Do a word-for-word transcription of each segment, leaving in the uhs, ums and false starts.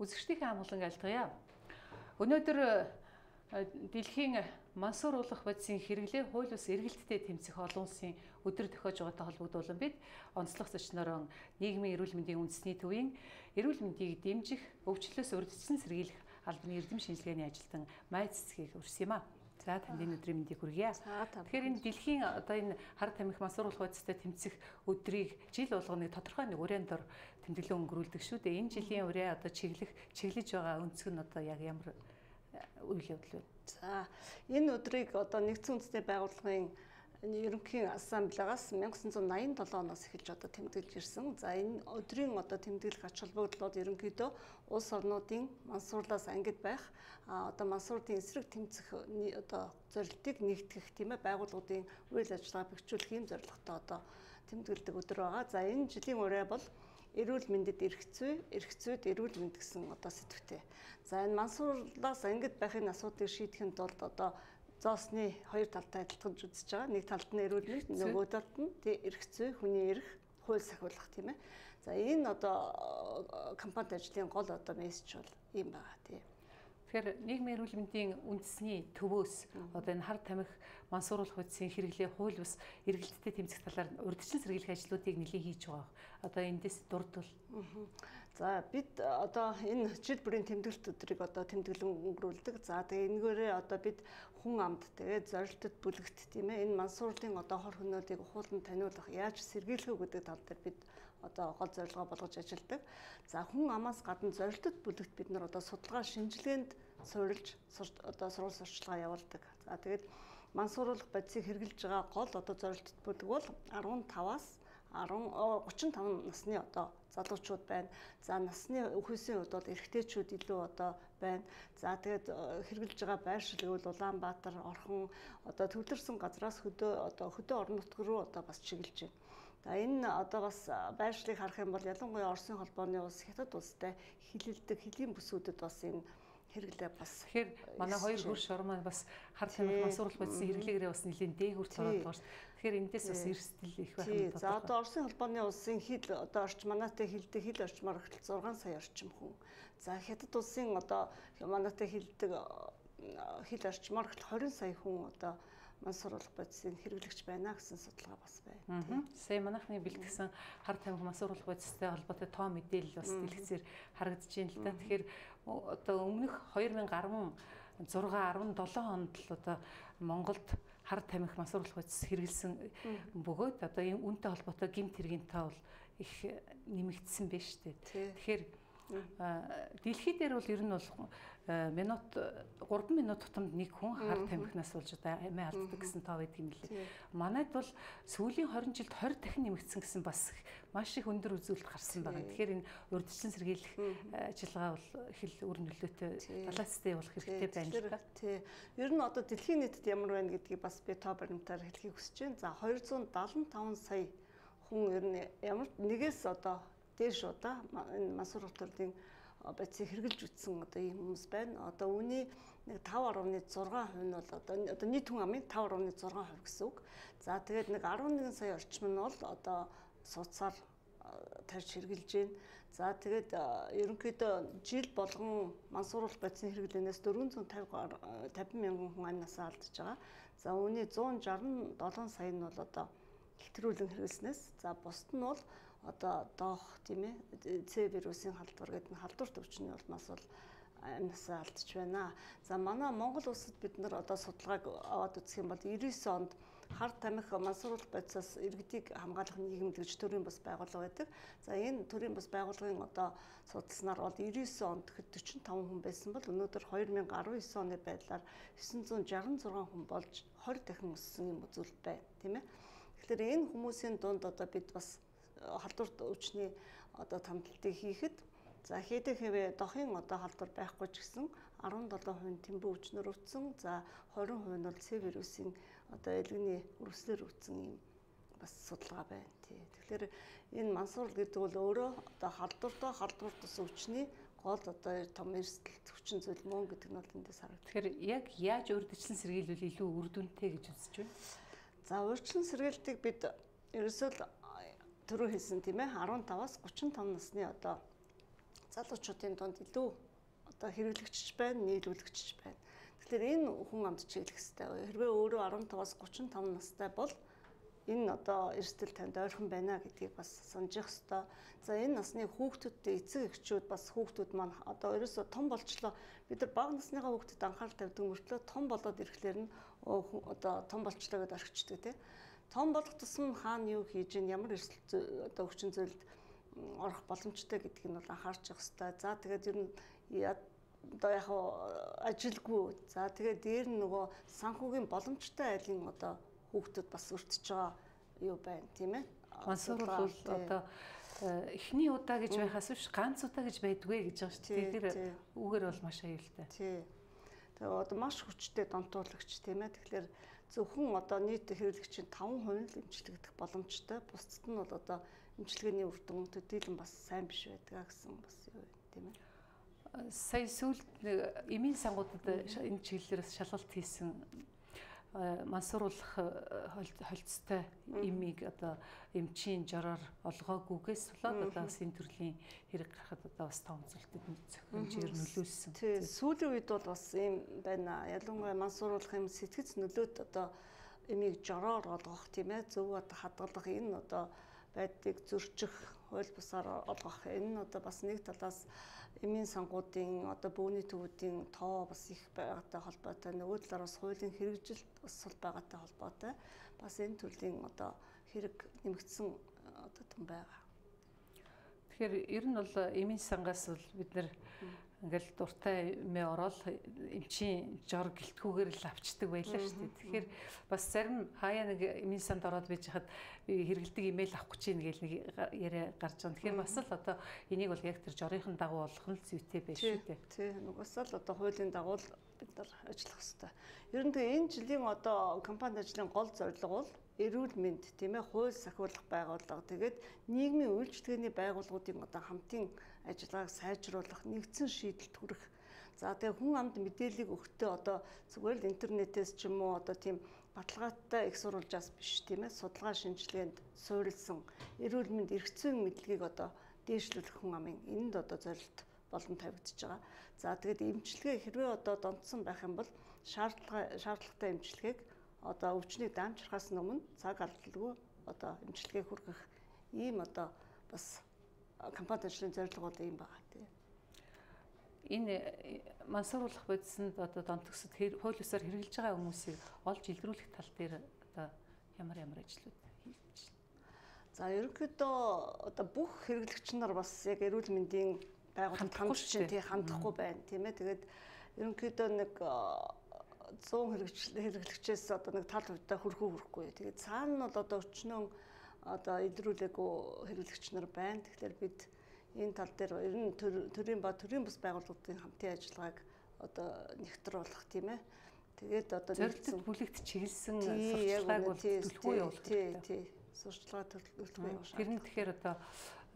Үзэгчдийн амгалан айлтгая. Өнөөдөр дэлхийн мансууруулах бодисын хэрэглээ хууль бус эргэлттэй тэмцэх олон улсын өдөр тохиож байгаатай холбогдуулан бид онцлог зочноор нийгмийн эрүүл мэндийн үндэсний төвийн эрүүл мэндийг дэмжих, өвчлөөс урьдчилан сэргийлэх албаны эрдэм шинжилгээний ажилтан Май цэцгийг урьсан юм а. За танд энэ өдрийн мэндийг хүргье. Тэгэхээр энэ дэлхийн одоо энэ хар тамхи мансууруулах бодистой тэмцэх өдрийг жил болгоны тодорхой нэг урийн дор тэмдэглэн өнгөрүүлдэг шүү дээ. Энэ жилийн ураа одоо чиглэх чиглэж байгаа өнцөг нь одоо яг ямар үйл явдал вэ? За энэ өдрийг одоо нэгдсэн үндэсний байгууллагын ерөнхий ассамблеагаас мянга девятьсот восемьдесят seven оноос эхэлж одоо тэмдэглэж ирсэн. За энэ өдрийн одоо тэмдэглэх ач холбогдлууд ерөнхийдөө улс орнуудын мансуурлаас ангид байх одоо мансуурлын эсрэг тэмцэх одоо зорилтыг нэгтгэх тийм ээ байгууллагуудын үйл ажиллагаа бэхжүүлэх юм зорилготой одоо тэмдэглэдэг өдөр байгаа. За энэ жилийн ураа бол эрүүл мэндэд эрх зүй, эрх зүйд эрүүл мэнд гэсэн одоо сэдвтэй. За энэ мансуурлаас ангид байхын асуудлыг шийдэхэд бол одоо зоосны хоёр талтай адилтгаж үзэж байгаа. Нэг талд нь эрүүл мэнд, нөгөө талд нь эрх зүй, хүний эрх, хууль сахиулах тийм ээ. За энэ одоо компанид ажлын гол одоо мессеж бол ийм байгаа тийм. Тэгэхээр нийгмийн эрүүл мэндийн үндэсний төвөөс одоо энэ хар тамхи мансууруулах бодисын хэрэглээ хууль бус эргэлттэй тэмцэх талаар урьдчилан сэргийлэх ажлуудыг нэлээд хийж байгаа. Одоо эндээс дурдвал. За бид одоо энэ жил бүрийн тэмдэглэлт өдрийг одоо тэмдэглэн өнгөрүүлдэг. За тэгээ энэгээрээ одоо бид хүн амд тэгээ зорилтод бүлэгт тийм ээ энэ мансуурлын одоо хор хөнөөлийг ухуулан таниулах яаж сэргийлэх үү гэдэг тал дээр бид одоо гол зорилгоо болгож ажилладаг. За хүн амаас гадна зорилтод бүлэгт бид нар одоо судалгаа шинжилгээнд суурилж одоо сурвалж сурталчилгаа явуулдаг. За тэгээд мансууруулах бодисыг хэрэгжилж байгаа гол одоо зорилттой бүлэг бол арван таваас тридцать пять насны одоо залуучууд байна. За насны үхээсийн хувьд бол эрэгтэйчүүд илүү одоо байна. За тэгээд хэрэгжилж байгаа байршил гэвэл Улаанбаатар, Орхон одоо төвлөрсөн газраас хөдөө одоо хөдөө орон нутг руу одоо бас чиглэж байна. За энэ одоо бас байршлыг харах юм бол ялангуяа Оросын холбооны улс, Хятад улстай хилэлдэг хөлийн бүсүүдэд бас энэ хэрэглээ бас. Тэгэхээр манай хоёр хөрш ор маань бас хар тамхи мансууруулах бодисын хэрэглээгээрээ бас нэлийн дээгүүрт ороод байгаа шүү дээ. Тэгэхээр эндээс бас эрсдэл их байх юм байна. За одоо Оросын холбооны улсын хил одоо орчим манайтай хилдэг хил орчмоор ихтэл зургаан сая орчим хүн. За Хятад улсын одоо манайтай хилдэг хил орчмоор ихтэл двадцать сая хүн одоо мансууруулах бодисыг хэрэглэгч байна гэсэн судалгаа бас байна. Сая манайхны бэлтгэсэн хар тамхи мансууруулах бодистой холбоотой тоо мэдээлэл бас дэлгэцээр харагдаж байна л да. Тэгэхээр одоо өмнөх две тысячи шесть дөрвөн seven онд л одоо Монголд хар тамхи мансууруулах бодис хэрэгэлсэн бөгөөд одоо энэ үнэтэй холбоотой гэмт хэргийн тоо бол их нэмэгдсэн байна шүү дээ. Тэгэхээр дэлхий дээр бол ер нь бол минут гурван минут тутамд нэг хүн хар тамхинаас болж одоо амиа алддаг гэсэн тоо байдаг юм лээ. Манайд бол сүүлийн двадцать жилд twenty дахин нэмэгдсэн гэсэн бас маш их өндөр үзүүлэлт гарсан байгаа. Тэгэхээр энэ урьдчилан сэргийлэх ажиллагаа бол их л үр нөлөөтэй баланстай явуулах хэрэгтэй байна л да. Тий. Ер нь одоо дэлхийн нийтэд ямар байна гэдгийг бас би тоо баримтаар хэлхийг хүсэж байна. За two hundred seventy-five сая хүн ер нь ямар нэгээс одоо дээш удаа энэ мансууруулах төрлийн бодисыг хэрэгжилж үтсэн одоо ийм хүмүүс байна. Одоо үүний нэг five point six percent нь бол одоо одоо нийт хүн амын five point six percent гэсэн үг. За тэгээд нэг eleven сая орчим нь бол одоо суудсаар тарьж хэрэгжилж байна. За тэгээд ерөнхийдөө жил болгон мансууруулах бодисын хэрэглэнээс four hundred fifty мянган хүн амнасаа алдаж байгаа. За үүний one sixty seven сая нь бол одоо хэвтрүүлэн хэрэглэснээс за бусд нь бол одоо доох тийм ээ С вирусын халдвар гэдэг нь халдвар төвчний улмаас бол амнасаа алдж байна. За манай Монгол улсад бид нар одоо судалгааг аваад үзэх юм бол ninety-nine онд хар тамхи мансууруулах бодисоос иргэдийг хамгаалах нийгэмд гэж төрийн бас байгууллага байдаг. За энэ төрийн бас байгууллагын одоо судалснаар бол ninety-nine онд forty-five хүн байсан бол өнөөдөр twenty nineteen оны байдлаар nine sixty-six хүн болж twenty дахин өссөн юм үзүүлэлт байна, тийм ээ. Тэгэхээр энэ хүмүүсийн дунд одоо бид бас халдвар өвчний одоо томдлтыг хийхэд за хийдэг хэвээ дохын одоо халдвар байхгүй ч гэсэн seventeen percent тэмбүү өвчнөр өвдсөн. За twenty percent нь бол С вирусын одоо элгэний үрслэр өвдсөн юм бас судалгаа байна тий. Тэгэхээр энэ мансуурал гэдэг бол өөрөө одоо халдвартай халдвар тус өвчний гол одоо том эрсдэл хүчин зүйл мөн гэдэг нь бол эндээс харагдав. Тэгэхээр яг яаж урьдчилан сэргийлвэл илүү үр дүнтэй гэж үзэж байна? За урьдчилан сэргийлтийг бид ерөөсөө түрүү хэлсэн тийм ээ фifteen-аас thirty-five насны одоо залуучуудын дунд илүү одоо хэрэглэгч байна, нийлүүлэгч байна. Тэгэхээр энэ хүн амд чиглэх хэрэгтэй. Хэрвээ өөрөө арван таваас гурван таван настай бол энэ одоо эрсдэл танд ойрхон байна гэдгийг бас санджих хэрэгтэй. За энэ насны хүүхдүүдтэй эцэг эхчүүд бас хүүхдүүд маань одоо ерөөсөө том болчлоо. Бид нар бага насныхаа хүүхдэд анхаарал тавьдаг мөртлөө том болоод ирэхлээр нь одоо том болчлоо гэдээ орхичдаг тийм. Том болох тусам хаана юу хийж ийн ямар эрсдэл одоо өвчин зүйлд орох боломжтой гэдгийг нь бол анхаарч явах хэрэгтэй. За тэгээд ер нь одоо яг ажилгүй. За тэгээд дээр нь нөгөө санхүүгийн боломжтой айлын одоо хүүхдүүд бас өртөж байгаа юу байна тийм ээ. Мансуур бол одоо эхний удаа гэж байхаас биш ганц удаа гэж байдгүй гэж байгаа шүү дээ. Тэгэхээр үгээр бол маш аюултай. Тий. Тэгээ одоо маш хүчтэй донтуулагч тийм ээ. Тэгэхээр зөвхөн одоо нийт хэрэглэгчийн таван хувь л эмчилэгдэх боломжтой. Бусдад нь бол одоо эмчилгээний үр дүн төдийлөн бас сайн биш байдаг гэсэн бас юу тийм ээ. Сая сүүлд эмийн сангуудад энэ чиглэлээс шалгалт хийсэн мансууруулах холцтой эмийг одоо эмчийн жороор олгоогүйгээс болоод одоо бас энэ төрлийн хэрэг гарахад одоо бас том зүйлтэд хэмжээр нөлөөлсөн. Тийм сүүлийн үед бол бас ийм байна. Ялангуяа мансууруулах юм сэтгэц нөлөөт одоо эмийг жороор олгох тийм ээ зөв одоо хадгалах энэ одоо байдгийг зөрчих хууль бусаар олгох энэ одоо бас нэг талаас эмийн сангуудын одоо бөөний төвүүдийн тоо бас их байгаатай холбоотой нөгөө талаараас хуулийн хэрэгжилт бас сул байгаатай холбоотой бас энэ төрлийн одоо хэрэг нэмэгдсэн одоо том байгаа. Тэгэхээр ер нь бол эмийн сангаас бол бид нэр ингээл дуртай эмээ ороод эмчийн жор гэлтгүүгээр л авчдаг байлаа шүү дээ. Тэгэхээр бас зарим хаяа нэг эмийн санд ороод байж хахад хэрэгэлдэг имэйл авах гэж нэг нэг яриа гарч байгаа. Тэгэхээр бас л одоо энийг бол яг тэр жорынхын дагуу болох нь зүйтэй байж шүү дээ. Тий, нугасаа л одоо хуулийн дагуу бид нар ажиллах хэрэгтэй. Ер нь тэгээ энэ жилийн одоо компани ажлын гол зорилго бол эрүүл мэнд тийм ээ хууль сахиулах байгууллага тэгээд нийгмийн үйлчилгээний байгууллагуудын одоо хамтын ажиллагааг сайжруулах нэгдсэн шийдэлд хүрэх. За тэгээ хүн амд мэдээллийг өгөхдөө одоо зүгээр л интернетээс ч юм уу одоо тийм баталгаатай их сурвалжаас биш тийм ээ судалгаа шинжилгээнд суурилсан эрүүл мэнд эрх зүйн мэдлэгийг одоо дээшлүүлэх хүн амын энэнд одоо зорилт болон тавигдчихж байгаа. За тэгээд эмчилгээ хэрвээ одоо донтсон байх юм бол шаардлага шаардлагатай эмчилгээг одоо өвчнийг даамжрахаас өмнө цаг алдалгүй одоо эмчилгээ хүргэх ийм одоо бас компани ажлын зорилго бол ийм байгаа тийм. Энэ мансууруулах бодисонд одоо донтогсод хууль ёсоор хэрэгжилж байгаа хүмүүсийг олж илрүүлэх тал дээр одоо ямар ямар ажлууд хийж байна. За ерөнхийдөө одоо бүх хэрэглэгч нар бас яг эрүүл мэндийн байгууллагад хандж чинь тий хандахгүй байна тийм ээ. Тэгээд ерөнхийдөө нэг зуун хэрэглэгчээс одоо нэг тал хувьтай хөрхөө хөрөхгүй. Тэгээд цаана нь бол одоо өчнөө одоо илрүүлээгүй хэрэглэгч нар байна. Тэгэхээр бид энэ тал дээр ер нь төрийн ба төрийн бус байгууллагуудын хамтын ажиллагааг одоо нэгтруулах тийм ээ. Тэгээд одоо зорилттой бүлэгт чиглэсэн сурчлагааг бол төлөвлөгөө явуулах хэрэгтэй. Тий, тий. Сурчлага төлөвлөгөө явуулах. Тэр нь тэгэхээр одоо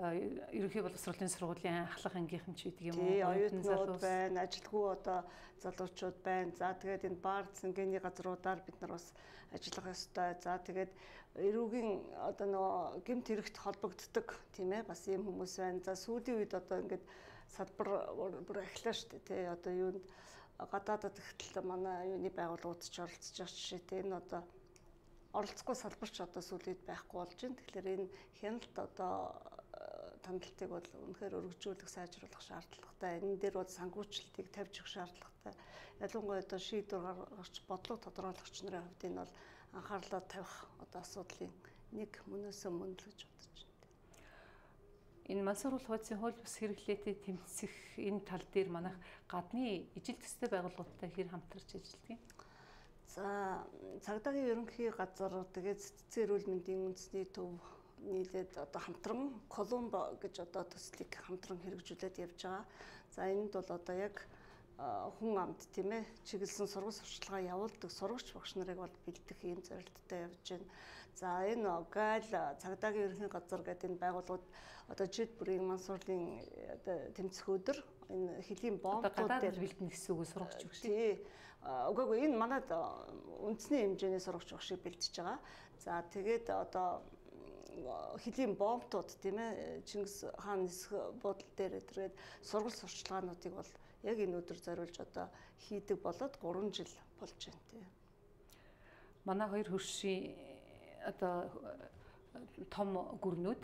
ерөнхий боловсролын сургуулийн ахлах ангийнхан ч гэдэг юм уу? Тий, оюутнууд байна, ажилгүй одоо залуучууд байна. За тэгээд энэ бар цэнгэний газруудаар бид нар бас ажиллах ёстой. За тэгээд эрүүгийн одоо нөгөө гэмт хэрэгт холбогддог тийм ээ бас ийм хүмүүс байна. За сүүлийн үед одоо ингээд салбар бүр эхлэв шүү дээ тий. Одоо юунд гадаадд ихтэл манай юуны байгууллагууд ч оролцож байгаа жишээтэй энэ одоо оролцохгүй салбарч одоо сүүлийн үед байхгүй болж байна. Тэгэхээр энэ хяналт одоо тандалтыг бол үнэхээр өргөжүүлэх, сайжруулах шаардлагатай. Энэ дээр бол сангуучлалтыг тавьж өгөх шаардлагатай. Ялангуяа одоо шийдвэр гаргагч, бодлого тодорхойлогч нарын хувьд энэ бол анхаарлаа тавих одоо асуудлын нэг мөнөөсөө мөн л гэж бодож байна. Энэ мансууруулах бодисын хууль бус хэрэглээтэй тэмцэх энэ тал дээр манайх гадны ижил төстэй байгууллагуудтай хэр хамтарч ажилладаг юм? За цагдаагийн ерөнхий газар тэгээд цэцэн эрүүл мэндийн үндэсний төв нийлээд одоо хамтран Колумбо гэж одоо төслийг хамтран хэрэгжүүлээд явж байгаа. За энэнд бол одоо яг хүн амд тийм ээ чиглэсэн сургууль сурчлагаа явуулдаг сурагч багш нарыг бол бэлдэх ийм зорилттой явж байна. За энэ гайл цагдаагийн ерөнхий газар гэдэг энэ байгууллагууд одоо жид бүрийн мансуурлын одоо тэмцэх өдөр энэ хөлийн бомбууд дээр бэлдэнэ гэсэн үг сурагч багш. Тий. Үгүй энэ манад үндэсний хэмжээний сурагч багшийг бэлдэж байгаа. За тэгээд одоо хэлийн бомбтууд тийм ээ Чингис хаан нисэх буудлын дээр тэргээд сургууль сурчлагаануудыг бол яг энэ өдөр зориулж одоо хийдэг болоод гурван жил болж байна тийм. Манай хоёр хөршийн одоо том гүрнүүд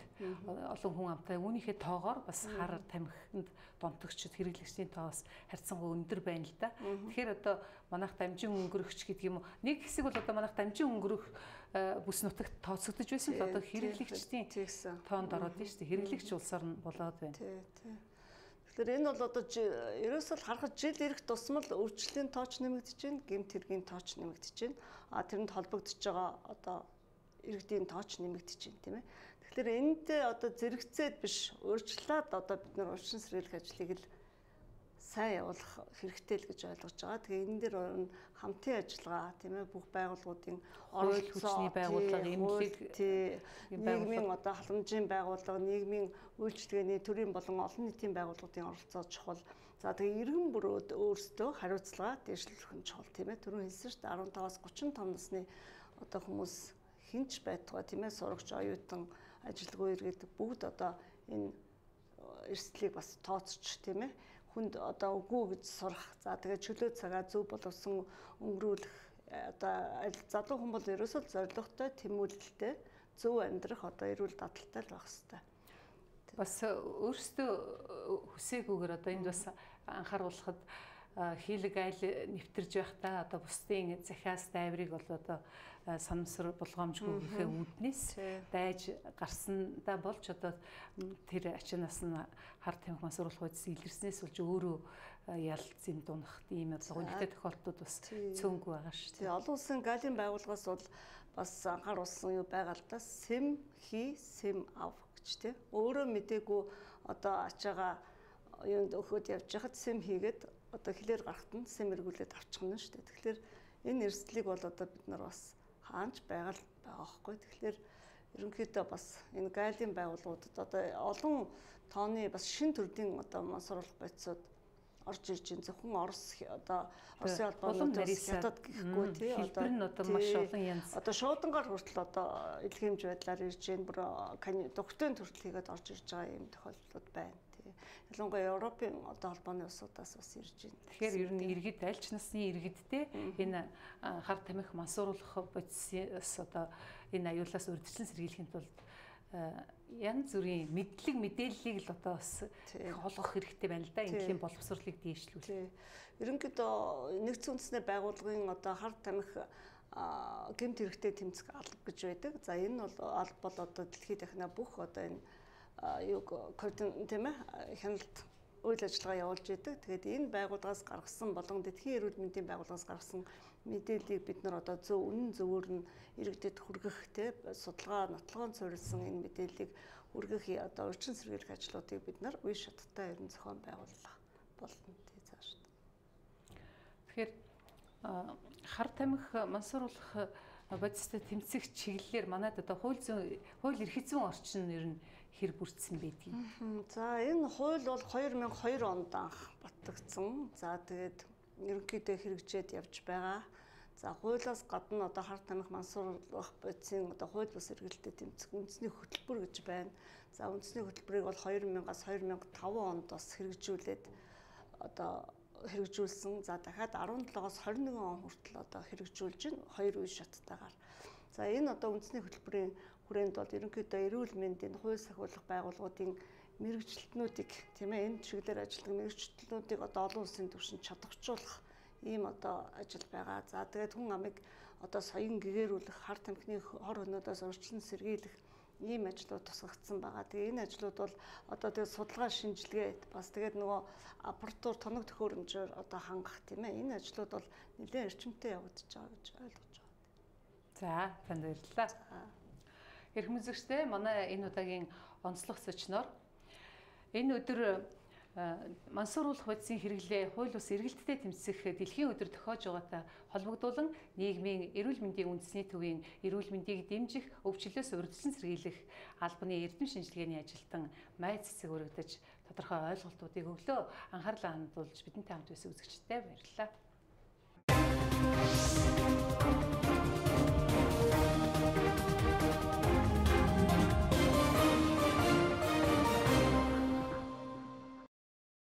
олон хүн амтай үүнийхээ тоогоор бас хар тамхинд донтогчд хэрэглэгчдийн тоос харьцангуй өндөр байна л да. Тэгэхээр одоо манайх дамжин өнгөрөгч гэдэг юм уу нэг хэсэг бол одоо манайх дамжин өнгөрөх бүс нутагт тооцогдож байсан л одоо хэрэглэгчдийн тоонд ороод байна шүү дээ. Хэрэглэгч улсаар нь болоод байна. Тэгэхээр энэ бол одоо ерөөсөө харахад жил ирэх тусмал өвчлөлийн тооч нэмэгдэж байна, гэмт хэргийн тооч нэмэгдэж байна. А тэрэнд холбогдож байгаа одоо иргэдийн тооч нэмэгдэж байна тийм ээ. Тэгэхээр энд одоо зэрэгцээд биш өөрчлөлт одоо бид нар урьдчилан сэргийлэх ажлыг л сайн явуулах хэрэгтэй л гэж ойлгож байгаа. Тэгээ энэ дээр хамтын ажиллагаа тийм ээ бүх байгууллагуудын оролцоо хүчний байгууллага эмнэлэг нийгмийн одоо халамжийн байгууллага, нийгмийн үйлчилгээний төрийн болон олон нийтийн байгууллагуудын оролцоо чухал. За тэгээ иргэн бүр өөрсдөө хариуцлага дэвшлэх нь чухал тийм ээ. Түрүүн хэлсэн шүү дээ арван таваас гурван том насны одоо хүмүүс хинч байтугай тийм ээ сурагч оюутан ажилгүй иргэд бүгд одоо энэ эрсдлийг бас тооцч тийм ээ хүнд одоо үгүй гэж сурах. За тэгээд чөлөө цагаа зөв болгосон өнгөрүүлэх одоо залуу хүн бол ерөөсөө зорилготой тэмүүлэлтэй зөв амьдрах одоо эрүүл дадалтай л байх хэрэгтэй. Бас өөрсдөө хүсээгүйгээр одоо энд бас анхааруулхад хийлэг айл нэвтэрж байхдаа одоо бусдын захиас дайврыг бол одоо санамсар болгоомжгүй гэхээ үүднээс дайж гарсандаа болж одоо тэр ачаанаас нь хар тамхи мансууруулах байдас илэрснээс болж өөрөө ялцын дунах ийм гонхтой тохиолдлууд бас цөөнгүй байгаа шүү дээ. Олон улсын галийн байгууллагаас бол бас анхааруулсан юу байгаа л да сэм хий сэм ав гэж тий. Өөрөө мдээгүй одоо ачаага юунд өгөхөд явж хахад сэм хийгээд одоо хилээр гарахт нь сэм эргүүлээд авчихна шүү дээ. Тэгэхээр энэ эрсдлийг бол одоо бид нар бас хаанч байгаа л байгаа байхгүй. Тэгэхээр ерөнхийдөө бас энэ гайлын байгууллагуудад одоо олон тооны бас шин төрлийн одоо мансууруулах бодисууд орж ирж байна. Зөвхөн Орос одоо Оросын албануудаас хятад гэхгүй тий одоо хэлбэр нь одоо маш олон янз. Одоо шуудангаар хүртэл одоо илгээмж байдлаар ирж байна. Бүр докторийн төрөл хийгээд орж ирж байгаа юм тохиолдлууд байна. Ялангуяа Европын одоо холбооны улсуудаас бас ирж байна. Тэгэхээр ер нь иргэд аль ч насны иргэдтэй энэ хар тамхи мансууруулах бодисоос одоо энэ аюулаас урьдчилан сэргийлэхэд бол янз бүрийн мэдлэг мэдээллийг л одоо бас олгох хэрэгтэй байна л да. Энэхийн боловсролыг дээшлүүлэх. Ерөнхийдөө нэгдсэн үндэсний байгууллагын одоо хар тамхи гэмт хэрэгтэй тэмцэх алба гэж байдаг. За энэ бол алба бол одоо дэлхийд дахина бүх одоо энэ юг тийм ээ хяналт үйл ажиллагаа явуулж идэг. Тэгээд энэ байгууллагаас гаргасан болон дэлхийн эрүүл мэндийн байгууллагаас гаргасан мэдээллийг бид нар одоо зөв үнэн зөвөөр нь иргэдэд хүргэх тийм судалгаа нотлогоон суурилсан энэ мэдээллийг хүргэх одоо урьдчилан сэргийлэх ажлуудыг бид нар үе шаттай ерөн зохион байгуулах болно тий цааш. Тэгэхээр хар тамхи мансууруулах бодистой тэмцэх чиглэлээр манайд одоо хууль зүйн хууль эрх зүйн орчин нь ер нь хэр бүрдсэн байдгийг. За энэ хууль бол хоёр мянган и хоёр онд анх батлагдсан. За тэгээд ерөнхийдөө хэрэгжээд явж байгаа. За хуулиас гадна одоо хар тамхи мансууруулах бодисын одоо хууль бус эргэлтэд тэмцэх үндэсний хөтөлбөр гэж байна. За үндэсний хөтөлбөрийг бол хоёр мянгаас хоёр мянган и таван онд бас хэрэгжүүлээд одоо хэрэгжүүлсэн. За дахиад арван долоогоос хорин нэгэн он хүртэл одоо хэрэгжүүлж байна. Хоёр үе шаттайгаар. За энэ одоо үндэсний хөтөлбөрийн хүрээнд бол ерөнхийдөө эрүүл мэндийн хууль сахиулах байгууллагуудын мэрэгчлэтнүүдийг тийм ээ энэ чиглэлээр ажилладаг мэрэгчлэтнүүдийг одоо олон улсын түвшинд чадваржуулах ийм одоо ажил байгаа. За тэгээд хүн амыг одоо соён гэгэрүүлэх, хар тамхины хор хөнөөдөөс урьдчилан сэргийлэх ийм ажлууд тусгагдсан байгаа. Тэгээ энэ ажлууд бол одоо тэгээд судалгаа шинжилгээ бас тэгээд нөгөө аппаратур тоног төхөөрөмжөөр одоо хангах тийм ээ энэ ажлууд бол нэлээд эрчимтэй явагдаж байгаа гэж ойлгож байна. За танд баярлалаа. Эрхэм үзэгчдээ манай энэ удаагийн онцлог зочноор энэ өдөр мансууруулах бодисын хэрэглээ хууль бус эргэлттэй тэмцэх дэлхийн өдөр тохиож байгаатай холбогдуулан нийгмийн эрүүл мэндийн үндэсний төвийн эрүүл мэндийг дэмжих, өвчлөөс урьдчилан сэргийлэх албаны эрдэм шинжилгээний ажилтан Май Цэцэг өргөдөж тодорхой ойлголтуудыг өглөө анхаарлаа хандуулж бидэнтэй хамт байсан үзэгчдээ баярлалаа.